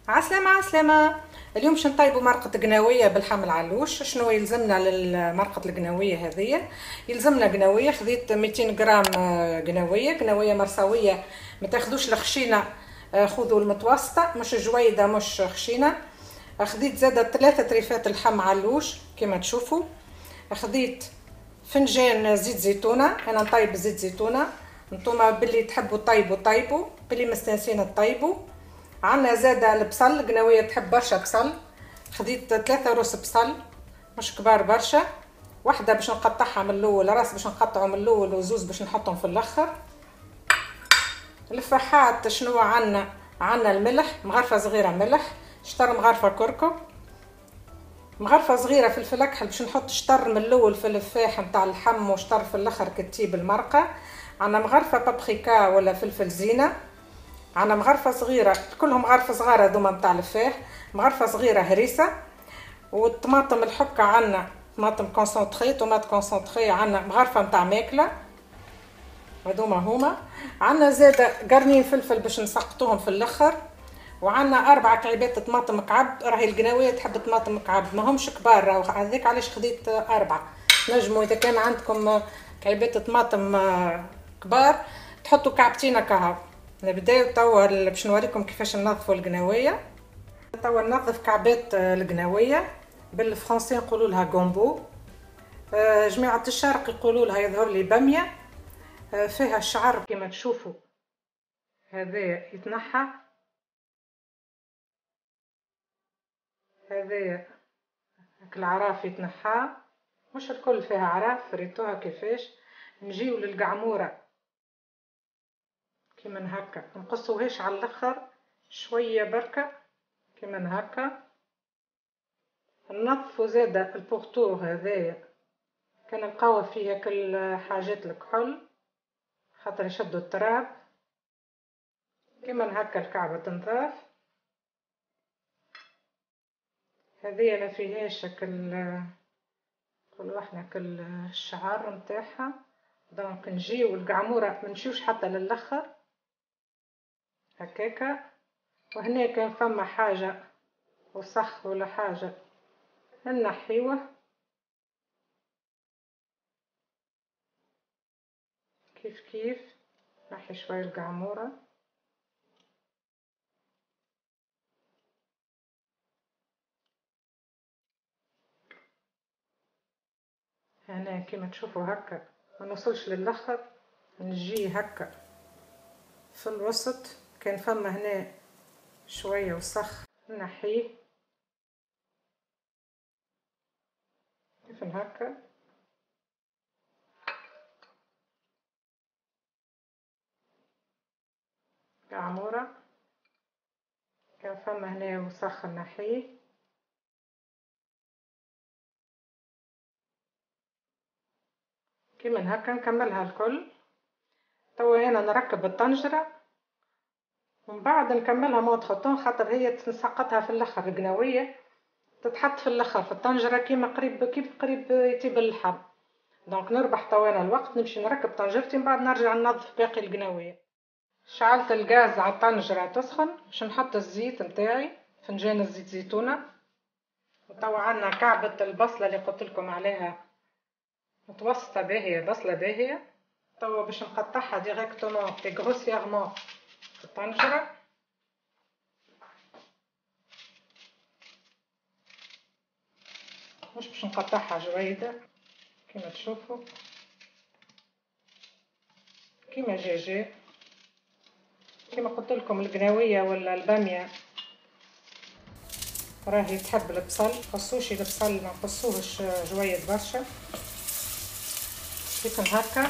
عسلامة عسلامة. اليوم باش نطيبوا مرقة قناوية باللحم العلوش. شنو يلزمنا للمرقة القناوية هذية؟ يلزمنا قناوية، خذيت 200 غرام قناوية، قناوية مرساوية، ما تاخذوش الخشينة، خذوا المتوسطة، مش جويدة مش خشينة. خذيت زادة 3 تريفات لحم علوش كما تشوفوا. خذيت فنجان زيت زيتونة، انا نطيب زيت زيتونة، نتوما باللي تحبوا طيبوا طيبوا، باللي مستانسين طيبوا. عندنا زاده البصل، قناويه تحب برشا بصل، خديت 3 روس بصل مش كبار برشا، واحدة باش نقطعها من الاول، راس باش نقطعه من الاول، وزوز باش نحطهم في الاخر. الفحات شنو عندنا؟ عندنا الملح، مغرفه صغيرة ملح، شطر مغرفه كركم، مغرفه صغيرة فلفل اكحل باش نحط شطر من الاول في الفاح نتاع اللحم وشطر في الاخر كتيب المرقه. عندنا مغرفه بابريكا ولا فلفل زينة، عندنا مغرفه صغيرة، كلهم مغرفه صغيرة هذوما نتاع الفاح، مغرفه صغيرة هريسه، والطماطم الحكة عندنا طماطم concentrée، tomate concentrée، عندنا مغرفه نتاع ماكله، هذوما هما. عندنا زاده قرنين فلفل باش نسقطوهم في الاخر، وعندنا 4 كعبات طماطم كعب، راهي القناويه تحب طماطم كعب، ماهمش كبار راهو، هذاك علاش خديت 4. نجموا اذا كان عندكم كعبات طماطم كبار تحطوا كعبتين كهو. نبداو توا باش نوريكم كيفاش ننظفوا القناويه. توا ننظف كعبات القناويه، بالفرنسي نقولوا لها gombo، جماعة الشرق يقولوا لها يظهر لي باميه. فيها الشعر كما تشوفوا، هذا يتنحى، هذا العراف يتنحى، مش الكل فيها عراف، ريتوها كيفاش. نجيو للقعموره كيما هكا، نقصوهاش على الاخر، شوية بركة كيما هكا. ننظفوا زاده ال pourtour هذايا، كان نلقاو فيه كل حاجات الكحول خاطر يشدوا التراب. كيما هكا الكعبة تنظاف، هذه ما فيهاش كل، نقولوا احنا كل الشعر نتاعها. donc نجيو القعموره ما نمشيوش حتى للاخر هكاكا. وهنا كان فما حاجة وسخ ولا حاجة نحيوه كيف كيف، نحي شوية القعموره. هنا كيما تشوفوا هكا ما نوصلش للاخر، نجي هكا في الوسط، كان فما هنا شوية وسخ نحيه كيف هكا. قعموره كان فما هنا وسخ نحيه. كيما هكا نكملها الكل. توا انا نركب الطنجره ومن بعد نكملها entre-temps، خاطر هي تنسقطها في الاخر، القناويه تتحط في الاخر في الطنجره كيما قريب كيف قريب يطيب اللحم. donc نربح توا انا الوقت، نمشي نركب طنجرتي من بعد نرجع ننظف باقي القناويه. شعلت الغاز على الطنجره تسخن باش نحط الزيت نتاعي، فنجان الزيت زيتونه. وتوا عندنا كعبه البصله اللي قلت لكم عليها متوسطه باهيه، بصله باهيه. توا باش نقطعها directement et grossièrement في الطنجره. مش باش نقطعها جويده كما تشوفوا، كما جاجي كما قلت لكم. القناويه ولا الباميه راهي تحب البصل، قصوش البصل ما نقصوهش جويد برشا كيف هكا.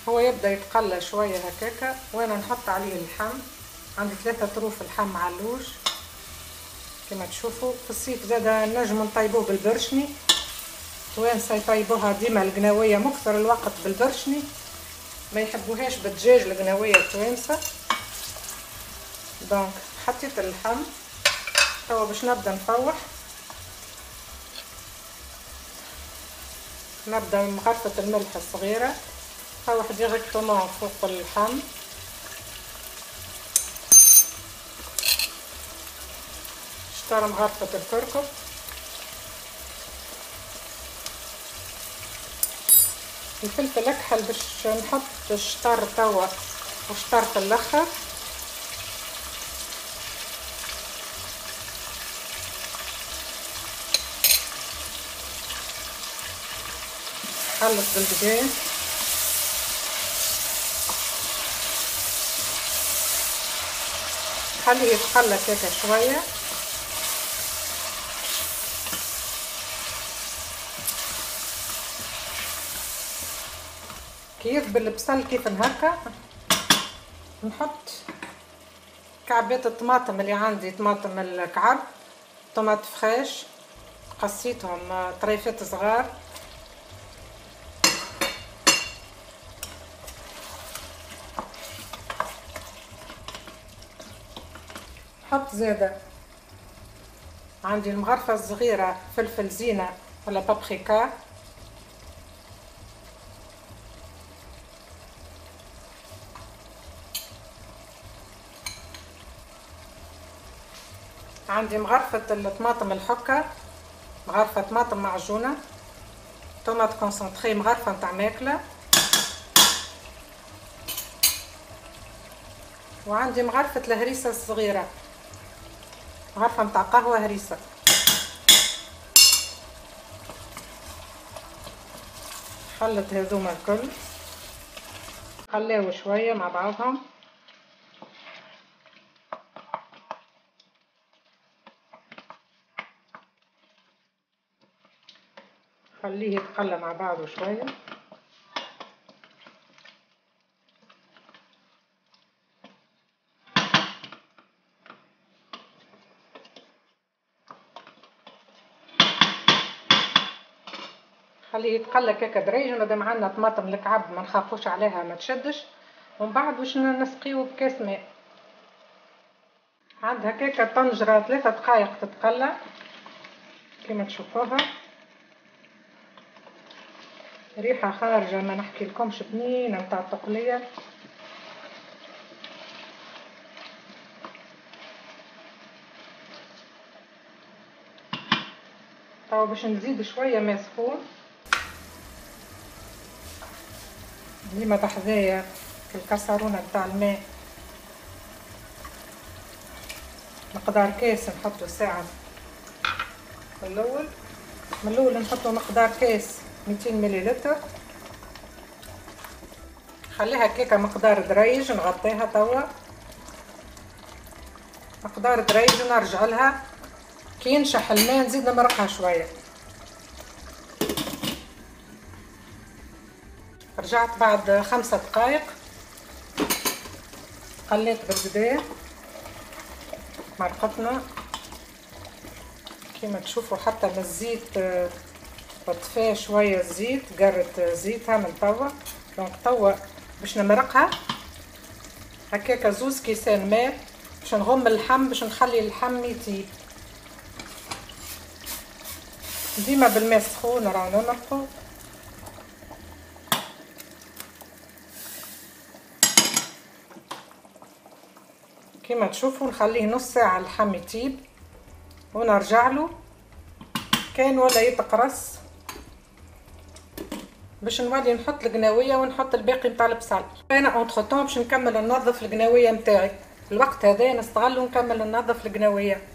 هو يبدا يتقلى شوية هكاكا، وانا نحط عليه اللحم. عندي 3 طروف لحم علوش كما تشوفوا. في الصيف زاده نجم نطيبوه بالبرشني، توانسة يطيبوها ديما القناويه مكثر الوقت بالبرشني، ما يحبوهاش بالدجاج القناويه التوانسة. donc حطيت اللحم توا باش نبدا نفوح. نبدا بمغرفه الملح الصغيرة، نروح directement فوق اللحم. شطر مغرفه الكركم، الفلفل اكحل باش نحط الشطر توا وشطر في الاخر. خلط بالبداية. خليه يتقلى كيكة شوية. كي يذبل البصل كيف هكا نحط كعبات الطماطم اللي عندي، طماطم الكعب، tomates fraîches قصيتهم طريفات صغار. نحط زاده عندي المغرفه الصغيرة فلفل زينة ولا بابريكا، عندي مغرفه الطماطم الحكة، مغرفه طماطم معجونه، tomate concentrée مغرفه نتاع ماكله، وعندي مغرفه الهريسه الصغيرة، مغرفه نتاع قهوة هريسه. خلط هذوما الكل، خليو شوية مع بعضهم. خليه يتقلى مع بعضه شوية. خليه يتقلى كاكا دريج، مادام عندنا طماطم الكعب ما نخافوش عليها ما تشدش. ومن بعد باش نسقيو بكاس ماء. عندها كاكا طنجره 3 دقائق تتقلى كما تشوفوها، ريحه خارجه ما نحكي لكمش، بنينه نتاع التقليه. توا باش نزيد شوية ماء سخون. ديما بحذايا في الكسرونه نتاع الماء مقدار كاس نحطو ساعة في الاول. من الاول نحطو مقدار كاس 200 مليلتر. خليها كيكة مقدار دريج، نغطيها توا مقدار دريج ونرجع لها. كي ينشح الماء نزيد نمرقها شوية. رجعت بعد 5 دقائق، قليت بالبداية مرقتنا كما تشوفوا، حتى من الزيت طفاه شوية الزيت، قرت زيتها من توا. donc توا باش نمرقها هكاكا 2 كيسان ماء باش نغم اللحم، باش نخلي اللحم يطيب. ديما بالماء السخون راه نمرقو. كما تشوفوا نخليه نص ساعة اللحم يطيب ونرجع له. كان ولا يتقرص باش نولي نحط القناويه ونحط الباقي نتاع البصل. انا entre-temps باش نكمل ننظف القناويه نتاعي، الوقت هذا نستغل ونكمل ننظف القناويه.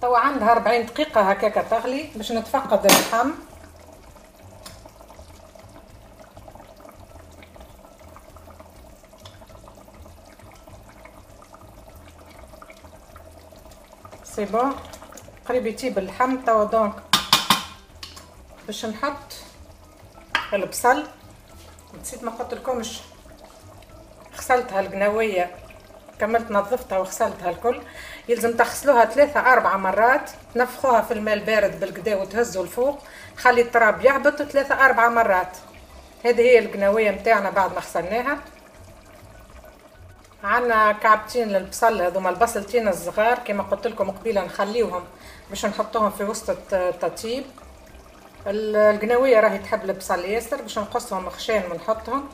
توا عندها 40 دقيقة هكاكا تغلي باش نتفقد اللحم. c'est bon قريب يطيب اللحم توا. donc باش نحط البصل، نسيت ما قلت لكمش غسلتها القناويه، كملت نظفتها وغسلتها الكل. يلزم تغسلوها 3 4 مرات، تنفخوها في الماء البارد بالكدا وتهزوا الفوق، خلي التراب يهبط 3 4 مرات. هذه هي القناويه نتاعنا بعد ما غسلناها. عندنا كعبتين للبصل، هذوما البصلتين الصغار كما قلت لكم قبيلة نخليوهم باش نحطوهم في وسط التطيب. القناويه راهي تحب البصل ياسر، باش نقصهم خشان ونحطهم.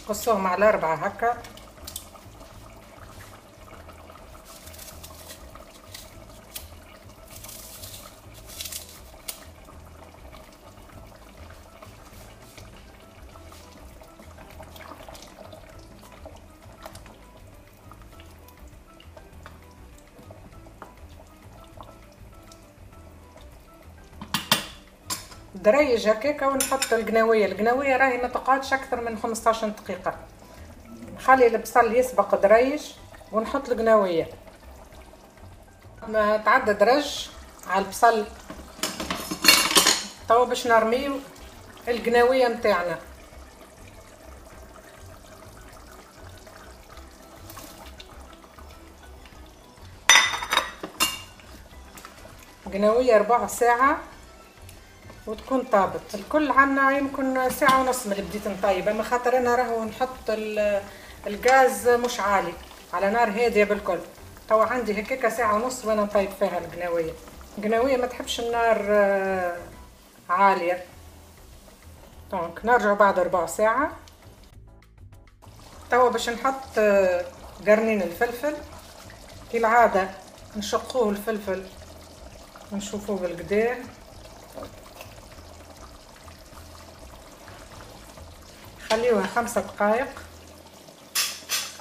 قصوهم على 4 هكا. دريج هكاكا ونحط القناويه. القناويه راهي ما تقعدش اكثر من 15 دقيقة. نخلي البصل يسبق دريج ونحط القناويه. ما تعدى درج على البصل. توا باش نرميو القناويه نتاعنا. قناويه ربع ساعة وتكون طابت. الكل عنا يمكن ساعة ونص من اللي بديت نطيب، اما خاطر انا راهو نحط الغاز مش عالي، على نار هادية بالكل. توا عندي هكاكا ساعة ونص وانا نطيب فيها القناوية. القناوية ما تحبش النار عالية. donc نرجع بعد ربع ساعة. توا باش نحط قرنين الفلفل. كالعادة نشقوه الفلفل ونشوفوه بالقدار. خليوها 5 دقائق.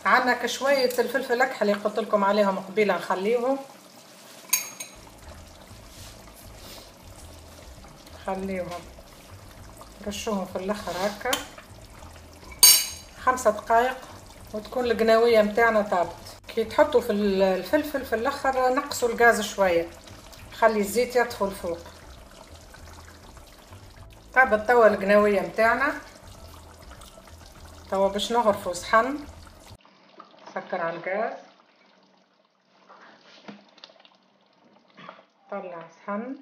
عندنا كشوية الفلفل الأكحل اللي قلت لكم عليهم قبيلة نخليوهم، خليوهم رشوهم في الاخر هكا. 5 دقائق وتكون القناوية متاعنا طابت. كي تحطوا في الفلفل في الاخر نقصوا الغاز شوية، خلي الزيت يطفو الفوق. طابت توا القناوية متاعنا. توا باش نغرفو صحن. سكر على الغاز، طلع صحن.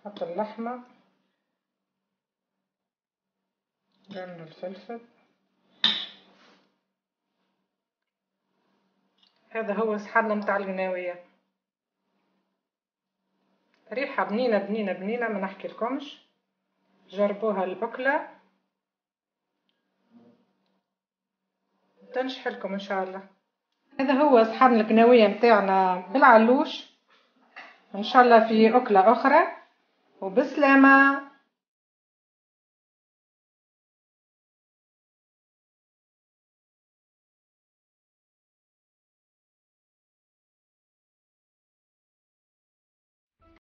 حط اللحمة، قرن الفلفل. هذا هو صحننا متاع القناوية. ريحة بنينة بنينة بنينة ما نحكي لكمش. جربوها الأكلة تنجح لكم إن شاء الله. هذا هو صحن القناوية متاعنا بالعلوش. إن شاء الله في أكلة أخرى، وبسلامة.